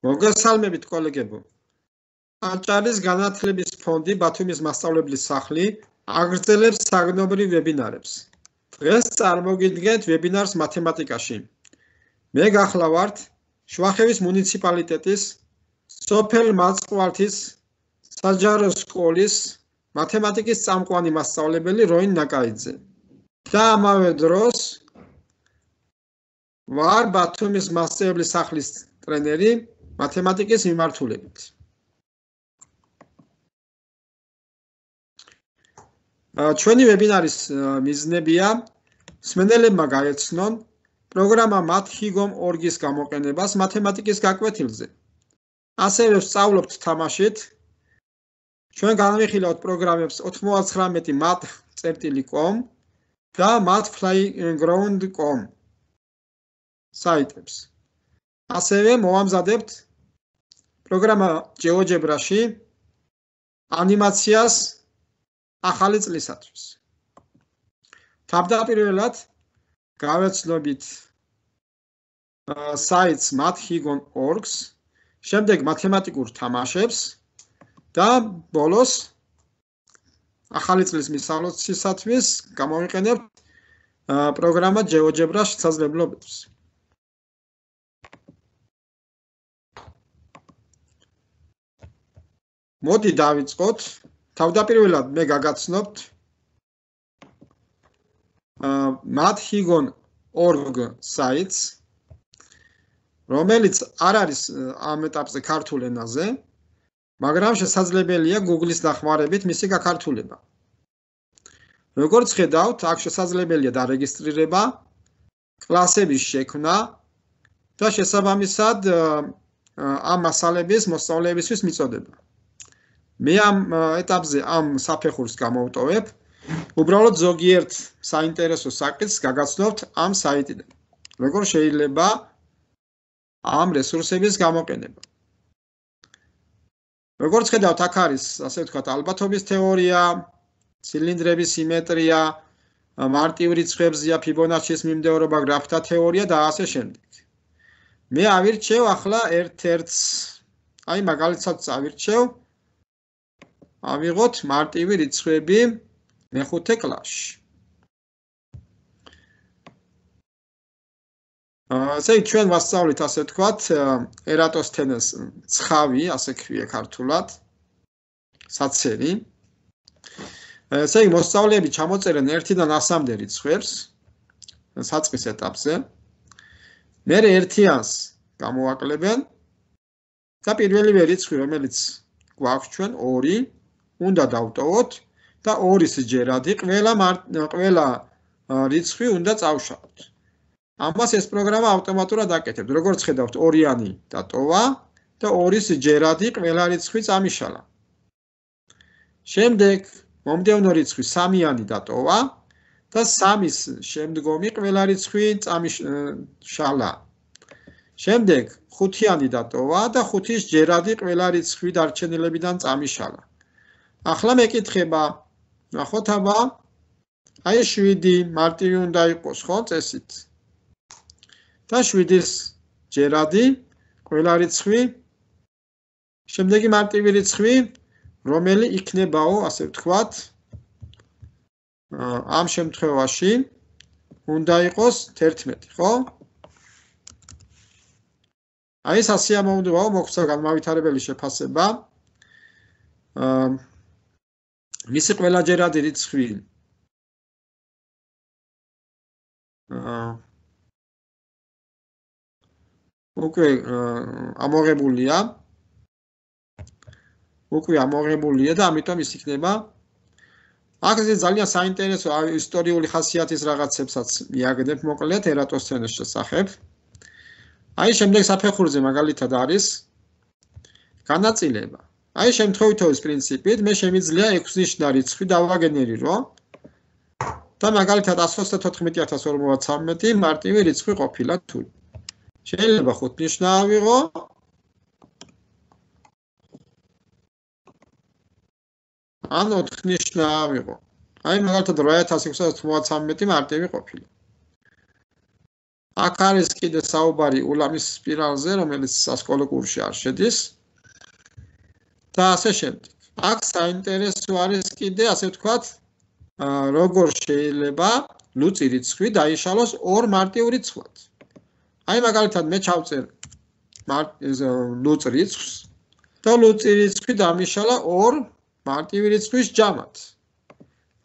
მოგესალმებით კოლეგებო. აჭარის განათლების ფონდი ბათუმის მასწავლებლის სახლი აგრძელებს საგნობრივ ვებინარებს. დღეს წარმოგიდგენთ ვებინარს მათემატიკაში. მე გახლავართ შვახევის მუნიციპალიტეტის სოფელ მაწყვართის საჯარო სკოლის მათემატიკის წამყვანი მასწავლებელი როინ ნაკაიძე. და ამავე დროს ვარ ბათუმის მასწავლებლის სახლის ტრენერი მათემატიკის მიმართულებით. ჩვენი ვებინარის მიზნებია მსმენელებმა გაეცნონ პროგრამა Math-Higom.org-ის გამოყენებას მათემატიკის გაკვეთილზე. ასევე ვსწავლობთ თამაშით. ჩვენ განვიხილავთ პროგრამებს 99 math.com და mathplayground.com საიტებს. ასევე მოვამზადებთ პროგრამა GeoGebra-ში ანიმაციას ახალი წლისათვის. თავდაპირველად გავეცნობით საიტს Math-Higom.org-ს, შემდეგ მათემატიკურ თამაშებს და ბოლოს ახალი წლის მისავლისათვის გამოვიყენებთ პროგრამა GeoGebra შესაძლებლობებს. მოდი დავიწყოთ. თავდაპირველად მე გაგაცნობთ Math-Higom.org საიტს, რომელიც არ არის ამ ეტაპზე ქართულ ენაზე, მაგრამ შესაძლებელია Google-ის დახმარებით მისი გაქართულება. როგორც ხედავთ, აქ შესაძლებელია დარეგისტრირება, კლასების შექმნა და შესაბამისად ამ მასალების მოსწავლეებისთვის მიწოდება. მე ამ ეტაპზე ამ საფეხურს გამოვტოვებ, უბრალოდ ზოგიერთ საინტერესო საკითხს გაგაცნობთ ამ საიტიდან. როგორ შეიძლება ამ რესურსების გამოყენება. როგორც ხედავთ, აქ არის, ასე ვთქვათ, ალბათობის თეორია, ცილინდრების სიმეტრია, მარტივ რიცხვებზია, ფიბონაჩის მიმდევრობა, გრაფთა თეორია და ასე შემდეგ. მე ავირჩევ ახლა ერთ-ერთს, აი მაგალითად წავირჩევ, ავიღოთ მარტივი რიცხვები მეხუთე კლასში. ასე ჩვენ ვასწავლით, ასე ვთქვათ, ერატოსთენეს ცხავი, ასე ქვია ქართულად, საცერი. ესე იგი მოსწავლეები ჩამოწერენ 1-დან 100-მდე რიცხვებს საწყის ეტაპზე. მერე ერთიანს გამოაკლებენ და პირველივე რიცხვი, რომელიც გვაქვს ჩვენ 2, უნდა დავტოვოთ და 2-ის ჯერადი ყველა რიცხვი უნდა წავშალოთ. ამას ეს პროგრამა ავტომატურად აკეთებს. როგორც ხედავთ, 2-იანი დატოვა და 2-ის ჯერადი ყველა რიცხვი წამიშალა. შემდეგ მომდევნო რიცხვი 3-იანი დატოვა და 3-ის შემდგომი ყველა რიცხვი წამიშალა. შემდეგ 5-იანი დატოვა და 5-ის ჯერადი ყველა რიცხვი დარჩენილებიდან წამიშალა. ახლა მეკითხება, ნახოთ აბა, აი 7 მარტივი უნდა იყოს, ხო, წესით. და 7-ის ჯერადი ყველა რიცხვი, შემდეგი მარტივი რიცხვი, რომელი იქნებაო, ასე ვთქვათ, ამ შემთხვევაში უნდა იყოს 11, ხო? აი ეს ასიამოვნებაა, მოგვცა განმავითარებელი შეფასება. მისი ყველა ჯერადი რიცხვი უკვე ამოღებულია და ამიტომ ის იქნება. აქ ძალიან საინტერესო ისტორიული ხასიათის რაღაცებსაც მიაგნებ მოკლედ ერატოსთენეს შესახებ. აი შემდეგ საფეხურზე მაგალითად არის განაწილება. აი შემთხვევითობის პრინციპით მე შემიძლია 6-ნიშნა რიცხვი დავაგენერირო და მაგალითად 134,053 მარტივი რიცხვი ყოფილა თუ. შეიძლება 5-ნიშნა ავიღო ან 4-ნიშნა ავიღო. აი მაგალითად 8693 მარტივი ყოფილა. აქ არის კიდე საუბარი ულამის სპირალზე, რომელიც სასკოლო კურსში არ შედის. და ასე შემდეგ. აქ საინტერესო არის კიდე, ასე ვთქვათ, როგორ შეიძლება ლუწი რიცხვი დაიშალოს ორ მარტივ რიცხვად. აი მაგალითად მე ჩავწერ ლუწ რიცხვს და ლუწი რიცხვი დამიშალა ორ მარტივი რიცხვის ჯამად.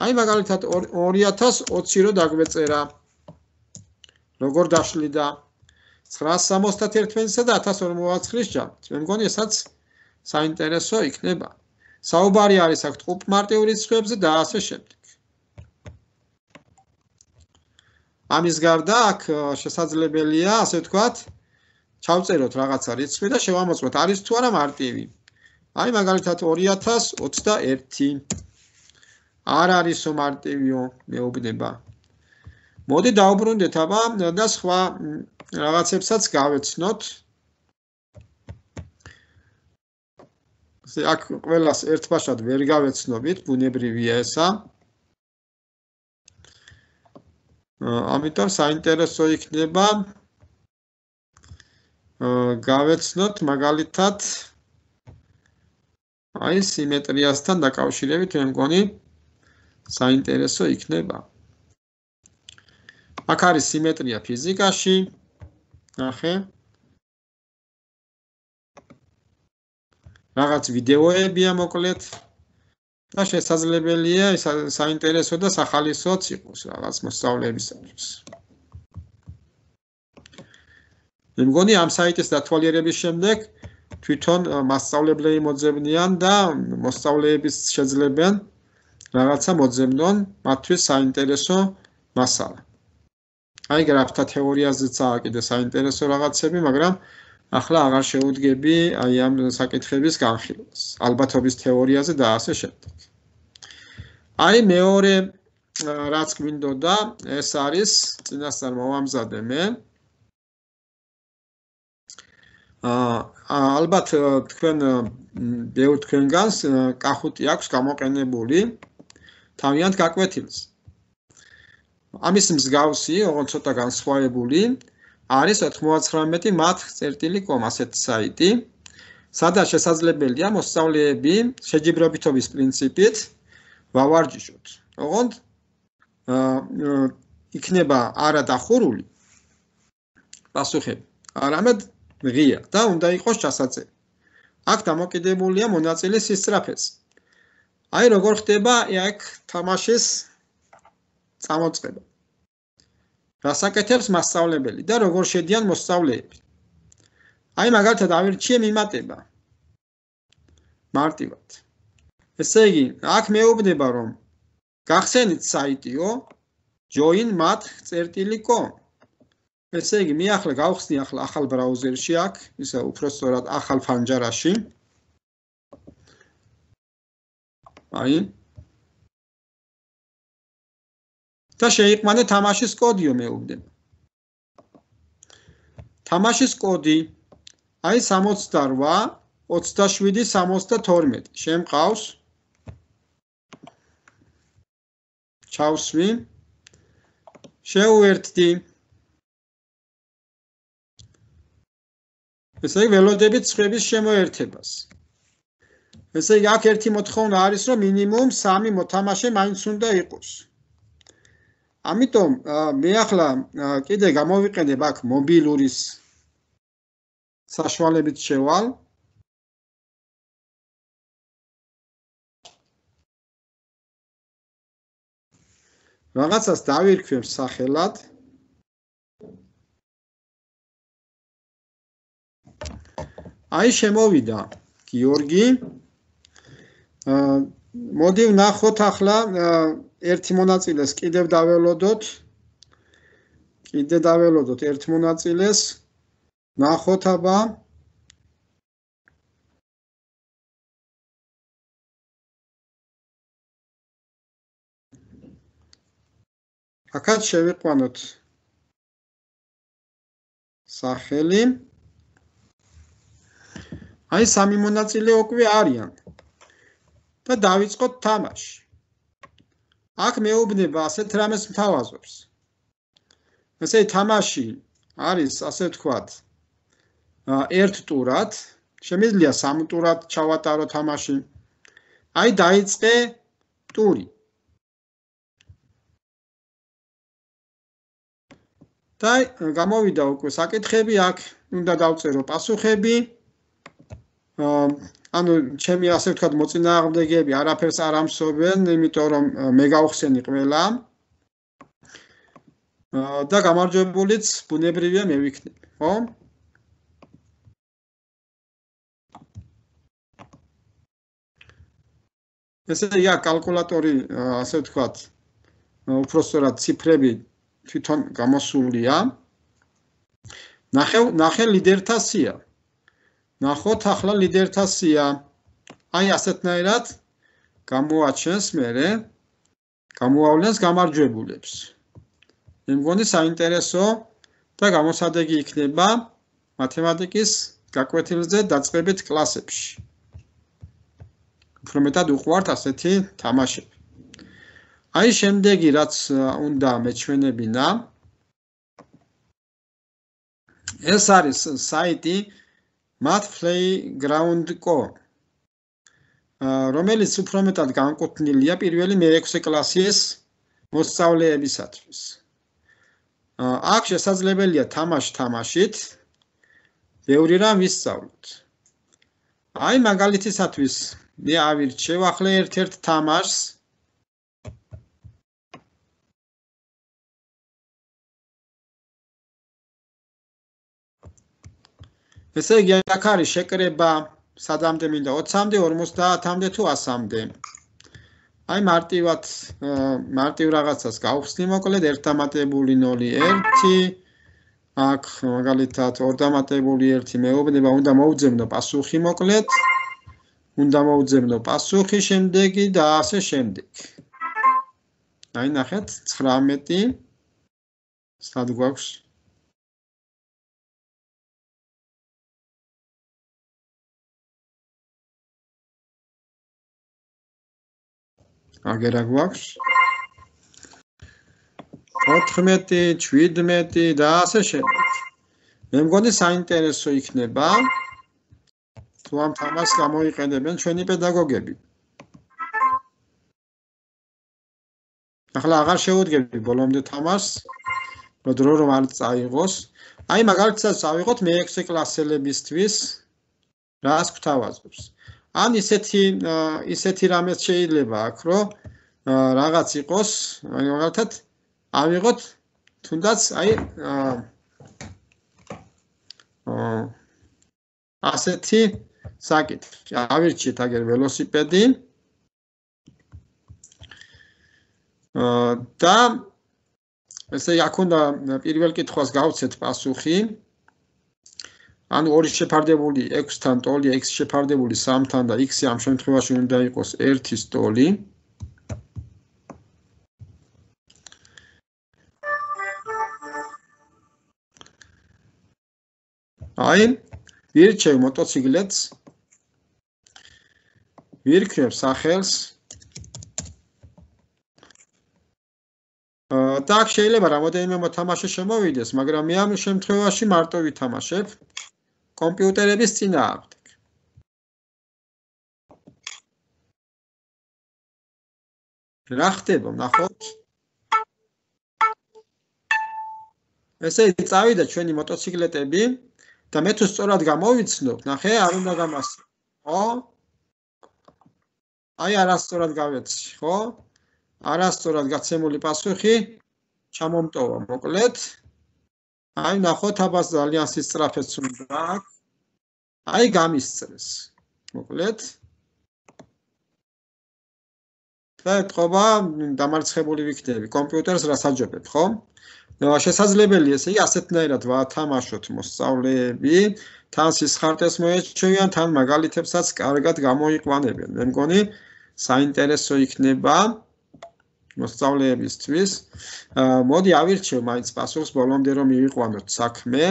აი მაგალითად 2020 რო დაგვეწერა. როგორ დაშლიდა 971-სა და 1049-ის ჯამად. მე მგონი ესაც საინტერესო იქნება. საუბარი არის აქ ტყუპ მარტივ რიცხვებზე და ასე შემდეგ. ამის გარდა აქ შესაძლებელია, ასე ვთქვათ, ჩავწეროთ რაღაცა რიცხვი და შევამოწმოთ არის თუ არა მარტივი. აი მაგალითად 2021 არ არისო მარტივიო, მეუბნება. მოდი დაუბრუნდეთ აბა და სხვა რაღაცებსაც გავეცნოთ. აქ ყველას ერთბაშად ვერ გავეცნობით, ბუნებრივია ესა. ამიტომ საინტერესო იქნება გავეცნოთ მაგალითად აი სიმეტრიასთან დაკავშირებით, მე მგონი საინტერესო იქნება. აქ არის სიმეტრია ფიზიკაში. ნახე. რაღაც ვიდეოებია მოკლედ და შესაძლებელია საინტერესო და სახალისოც იყოს რაღაც მოსწავლეებისათვის. მე მგონი ამ საიტის დათვალიერების შემდეგ თვითონ მასწავლებლები მოძებნიან და მოსწავლეებიც შეძლებენ რაღაცა მოძებნონ მათთვის საინტერესო მასალა. აი გრაფთა თეორიაზეცაა კიდე საინტერესო რაღაცები, მაგრამ ახლა აღარ შეუდგები აი ამ საკითხების განხილვას. ალბათობის თეორიაზე და ასე შემდეგ. აი მეორე რაც გვინდოდა, ეს არის წინასწარ მოვამზადე მე. ალბათ თქვენ ბევრ თქვენგანს კახუტი აქვს გამოყენებული თავიანთ გაკვეთილს. ამის მსგავსი, ოღონდ ცოტა განსხვავებული არის 99math.com ასეთი საიტი, სადაც შესაძლებელია მოსწავლეები შეჯიბრებითობის პრინციპით ვავარჯიშოთ. ოღონდ იქნება არა დახურული პასუხები, არამედ ღია და უნდა იყოს ჩასაწერი. აქ დამოკიდებულია მონაწილის სისწრაფეზე. აი როგორ ხდება აქ თამაშის წამოწყება. რასაკეთებს მასწავლებელი და როგორ შედიან მოსწავლეები. აი მაგალითად ავირჩიე მიმატება. მარტივად. ესე იგი, აქ მეუბნება რომ გახსენით საიტიო joinmath.com. ესე იგი, მე ახლა გავხსნი ახლა ახალ ბრაუზერში აქ, ისე უფრო სწორად ახალ ფანჯარაში. აი და შეიყვანე თამაშის კოდიო მეუბნება. თამაშის კოდი აი 68 27 72 შემყავს. ჩავსვი. შევუერთდი. ესე იგი ველოდებით ცხრების შემოერთებას. ესე იგი აქ ერთი მოთხოვნა არის რომ მინიმუმ 3 მოთამაშე მაინც უნდა იყოს. ამიტომ მე ახლა კიდე გამოვიყენებ აქ მობილურის საშუალებით შევალ. რაღაცას დავირქვევ სახელად. აი შემოვიდა გიორგი. მოდი ვნახოთ ახლა ერთი მონაწილეს კიდევ დაველოდოთ. კიდე დაველოდოთ ერთ მონაწილეს. ნახოთ აბა. აქაც შევიყვანოთ სახელი. აი სამი მონაწილე უკვე არიან. და დავიწყოთ თამაში. აქ მეუბნება ასეთ რამეს მთავაზობს. ესე თამაში არის ასე ვთქვათ ერთ ტურად, შემიძლია სამ ტურად ჩავატარო თამაში. აი დაიწყე ტური. და გამოვიდა უკვე საკითხები აქ, უნდა დავწერო პასუხები. ანუ ჩემი ასე ვთქვათ მოწინააღმდეგეები არაფერს არ ამსობენ, იმიტომ რომ მე გავხსენი ყველა. და გამარჯვებულიც ბუნებრივია მე ვიქნები, ხო? ესე იგი კალკულატორი ასე ვთქვათ უпростоრად ციფრები თვითონ გამოსულია. ნახე ლიდერთა სია. ნახოთ ახლა ლიდერთა სია. აი ასეთნაირად გამოაჩენს მერე გამოავლენს გამარჯვებულებს. მე მგონი საინტერესო და გამოსადეგი იქნება მათემატიკის გაკვეთილზე დაწყებით კლასებში. უფრო მეტად უყვართ ასეთი თამაშები. აი შემდეგი რაც უნდა მეჩვენებინა ეს არის საიტი mathplayground.co რომელიც უფრო მეტად განკუთვნილია პირველი მე-6 კლასის მოსწავლეებისათვის. აქ შესაძლებელია თამაშით ბევრი რამ ვისწავლოთ. აი მაგალითისათვის მე ავირჩევ ახლა ერთ-ერთ თამაშს ესე იგი აქ არის შეკრება სადამდე მინდა 20-მდე, 50-მდე თუ 100-მდე. აი მარტივ რაღაცას გავხსნი მოკლედ 1 დამატებული 0 1 აქ მაგალითად 2 დამატებული 1 მეუბნება უნდა მოვუძებნო პასუხი მოკლედ. უნდა მოვუძებნო პასუხი შემდეგი და ასე შემდეგ. აი ნახეთ 19 სად გვაქვს აგერა გვაქვს 14 17 და ასე შემდეგ. მე მგონი საინტერესო იქნება თუ ამ თამაშს გამოიყენებენ ჩვენი პედაგოგები. ახლა აღარ შევუდგები ბოლომდე თამაშს, დრო რომ არ წაიღოს. აი მაგალითად წავიღოთ მე-6 კლასელებისთვის რას გვთავაზობს. ან ისეთი რამეც შეიძლება აქ რომ რაღაც იყოს, აი მაგალითად ავიღოთ თუნდაც აი ასეთი საკითხი. ავირჩიეთ აგერ ველოსიპედი და ესე აქ უნდა პირველ კითხვას გავცეთ პასუხი. ანუ 2 შეფარდებული 6-თან ტოლი, x შეფარდებული 3-თან და x ამ შემთხვევაში უნდა იყოს 1-ის ტოლი. აი ვირჩევ მოტოციკლეთს, ვირქმევ სახელს და აქ შეიძლება რამოდენიმე მოთამაშე შემოვიდეს, მაგრამ მე ამ შემთხვევაში მარტო ვითამაშებ კომპიუტერების წინააღმდეგ. რა ხდება, ნახოთ. ესე წავიდა ჩვენი მოტოციკლეტები და მე თუ სწორად გამოვიცნობ, ნახე, არ უნდა გამასწრო. ხო? აი არასწორად გავეცი, ხო? არასწორად გაცემული პასუხი ჩამომტოვა მოკლედ. აი ნახოთ აბას ძალიან სისწრაფეც უნდა აქვს. აი გამისწრეს. მოკლედ. და ეთყობა დამარცხებული ვიქნები. კომპიუტერს რას აჯობებ, ხო? შესაძლებელია ესე იგი ასეთნაირად ვათამაშოთ მოსწავლეები, თან სისხარტეს მოეჩვევიან, თან მაგალითებსაც კარგად გამოიყვანებენ. მე მგონი საინტერესო იქნება მოსწავლეებისთვის. მოდი ავირჩევ მაინც პასუხს ბოლომდე რომ მივიყვანოთ საქმე.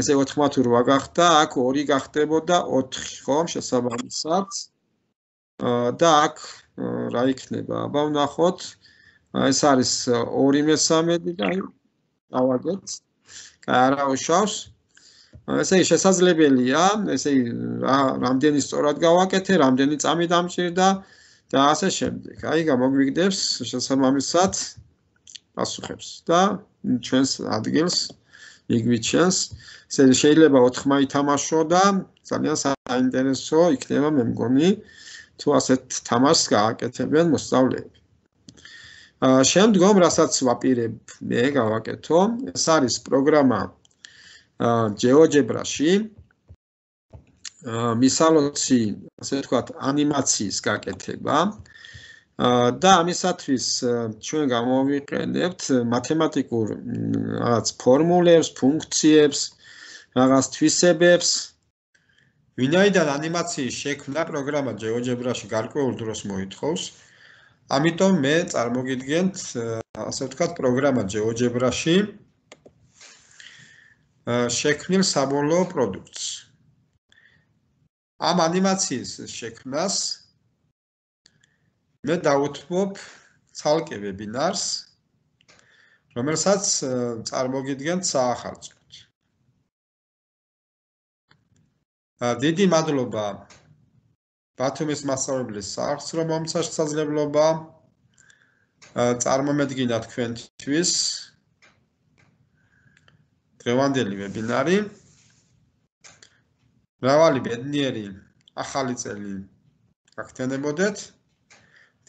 ესე 4-8 გახდა, აქ 2 გახდებოდა 4, ხო, შესაბამისად. და აქ რა იქნება? აბა ვნახოთ. ეს არის 2/3 და აი დავაგეთ. არა უშავს. ესე იგი შესაძლებელია, ესე იგი რამდენი სწორად გავაკეთე, რამდენი წამი დამჭირდა და ასე შემდეგ. აი გამოგვიგდებს შესაბამისად პასუხებს და ჩვენს ადგილს იგვითჩენს. ესე შეიძლება 4 ითამაშო და ძალიან საინტერესო იქნება მე მგონი თუ ასეთ თამაშს გააკეთებენ მოსწავლეები. შემდგომ რასაც ვაპირებ მე გავაკეთო, ეს არის პროგრამა GeoGebra-ში მისალოცი, ასე ვთქვათ, ანიმაციის გაკეთება და ამისათვის ჩვენ გამოვიყენებთ მათემატიკურ რაღაც ფორმულებს, ფუნქციებს, რაღაც თვისებებს. ვინაიდან ანიმაციის შექმნა პროგრამა GeoGebra-ში გარკვეულ დროს მოითხოვს, ამიტომ მე წარმოგიდგენთ, ასე ვთქვათ, პროგრამა GeoGebra-ში შექმნილ საბოლოო პროდუქტს. ამ ანიმაციის შექმნას მე დავუთმობ ცალკე ვებინარს, რომელსაც წარმოგიდგენთ საახალწლოდ. დიდი მადლობა ბათუმის მასწავლებლის საახსრო მომცა შესაძლებლობა წარმომედგინა თქვენთვის დღევანდელი ვებინარი. მრავალი ბედნიერი ახალი წელი გაგრძელებოდეთ.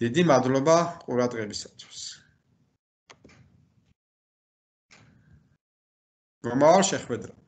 დიდი მადლობა ყურადღებისათვის. მომავალ შეხვედრამდე.